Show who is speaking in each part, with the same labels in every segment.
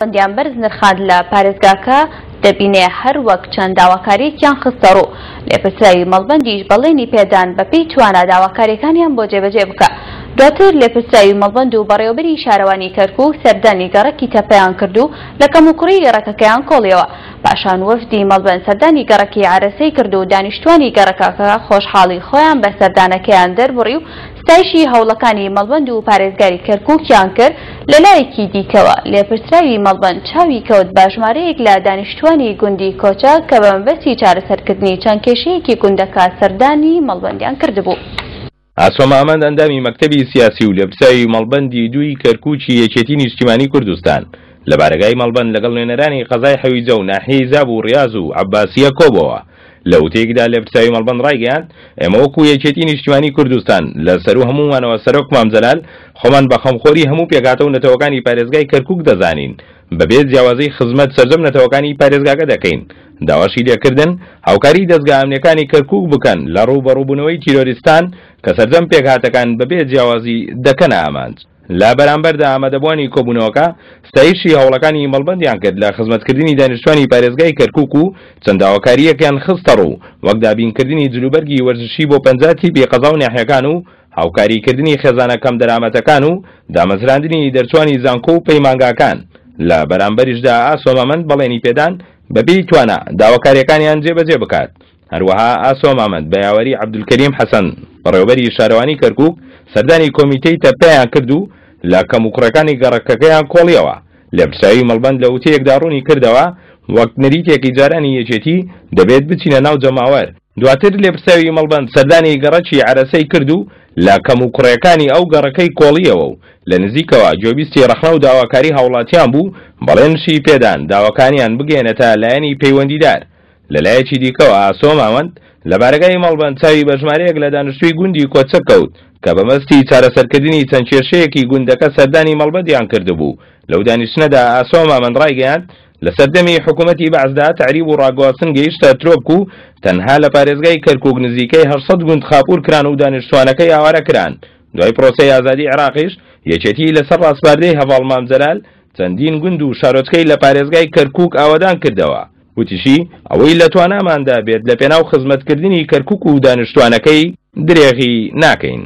Speaker 1: پەیوەندیان بەرز نرخاند لە پارێزگاکە دەبینێ هەر وەک چەند داواکاریەکیان خستەڕوو، لێپرسراوی مەڵبەندیش بەڵێنی پێدان بەپێی توانا داواکاریەکانیان بۆ جێبەجێ بکا. دواتر لێپرسراوی مەڵبەند و بەڕێوەبەری شارەوانی کەرکوک سەردانی گەڕەکی تەپەیان کرد و لە کەموکوڕی گەڕەکەکەیان کۆڵیەوە. پاشان وەفدی مەڵبەند سەردانی گەڕەکی عەرەسەی کرد و دانیشتوانی گەڕەکەکە خۆشحاڵی خۆیان بە سەردانەکەیان دەربڕی و ستایشی هەوڵەکانی مەڵبەند و پارێزگاری کەرکوکیان کرد، لەلایەکی دیکەوە لێپرسراوی مەڵبەند چاوی کەوت بە ژمارەیەک لە دانیشتوانی گوندی کۆچە کە بە مەبەستی چارەسەرکردنی چەند کێشەیەکی گوندەکە سەردانی مەڵبەندیان کردبوو.
Speaker 2: ئاسۆ مامەند ئەندامی مەکتەبی سیاسی و لێپرسراوی مەڵبەندی دووی کەرکوکی یەکێتی نیشتیمانی کوردستان لە بارەگای مەڵبەند لەگەڵ نوێنەرانی قەزای حەویجە و ناحیەی زاب و ڕیاز و عەباسیە کۆبۆوە. لە وتەیەکدا لێپرسراوی مەڵبەند ڕایگەیاند، ئێمە وەکو یەکێتی نیشتیمانی کوردستان لە سەروو هەموومانەوە سەرۆک مام جەلال خۆمان بە خەمخۆری هەموو پێکهاتە و نەتەوەکانی پارێزگای کەرکوک دەزانین بەبێ جیاوازی خزمەت سەرجەم نەتەوەکانی پارێزگاکە دەکەین داواشی لێکردن هاوکاری دەزگا ئەمنیەکانی کەرکوک بکەن لە ڕووبەڕووبوونەوەی تیرۆریستان کە سەرجەم پێکهاتەکان بەبێ جیاوازی دەکەنە ئامانج. لە بەرامبەردا ئامادەبووانی کۆبوونەوەکە ستایشی هەوڵەکانی مەڵبەندیان کرد لە خزمەتکردنی دانیشتوانی پارێزگای کەرکوک و چەند داواکارییەکیان خستەڕوو وەک دابینکردنی جلوبەرگی وەرزشی بۆ 50 تیپی قەزا و ناحیەکان و هاوکاریکردنی خێزانە کەمدەرامەتەکان و دامەزراندنی دەرچوانی زانکۆ و پەیمانگاکان لە بەرامبەریشدا ئاسۆ مامەند بەڵێنی پێدان بەپێی توانا داواکارییەکانیان جێبەجێ بکات. هەروەها ئاسۆ مامەند بە یاوەری عەبدولکەریم حەسەن، بەڕێوەبەری شارەوانی کەرکوک، سەردانی کۆمیتەی تەپەیان کرد و لە کەموکوڕیەکانی گەڕەکەکەیان کۆڵیەوە. لێپرسراوی مەڵبەند لە وتەیەکدا ڕوونی کردەوە، وەک نەریتێکی جارانی یەکێتی، دەبێت بچینە ناو جەماوەر. دواتر لێپرسراوی مەڵبەند سەردانی گەڕەکی عەرەسەی کرد و لە کەموکوڕیەکانی ئەو گەڕەکەی کۆڵیەوە و لە نزیکەوە گوێبیستی ڕەخنە و داواکاری هاوڵاتیان بوو، بەڵێنشی پێدان داواکانیان بگەیەنێتە لایەنی پەیوەندیدار. لەلایەکی دیکەوە ئاسۆ ماوەند لە بارەگای مەڵبەند چاوی بە ژمارەیەک لە دانیشتووی گوندی کۆچەک کەوت کە بە مەبەستی چارەسەرکردنی چەند کێشەیەکی گوندەکە سەردانی مەڵبەندیان کردبوو. لەو دانیشتنەدا ئاسۆ مامەند ڕایگەیاند، لە سەردەمی حکوومەتی بەعسدا تەعریب و ڕاگواستن گەیشتە ترۆپک و تەنها لە پارێزگای کەرکووک نزیکەی 800 گوند خاپوور کران و دانیشتووانەکەی ئاوارە کران. دوای پرۆسەی ئازادی عێراقیش یەکێتی لەسەر ڕاسپاردەی هەڤاڵ مام جەلال چەندین گوند و شارۆچکەی لە پارێزگای کەرکووک ئاوەدان کردەوە. وتیشی، ئەوەی لە تواناماندا بێت لەپێناو خزمەتکردنی کەرکوک و دانیشتوانەکەی درێغی ناکەین.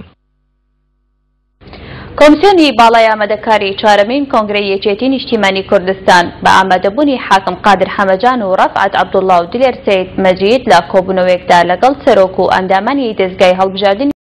Speaker 1: کۆمسیۆنی باڵای ئامادەکاری چوارەمین کۆنگرەی یەکێتی نیشتیمانی کوردستان بە ئامادەبوونی حاکم قادر حەمەجان و ڕەفعەت عەبدوڵڵا و دلێر سەید مەجید لە کۆبوونەوەیەکدا لەگەڵ سەرۆک و ئەندامانی دەزگای هەڵبژاردنی.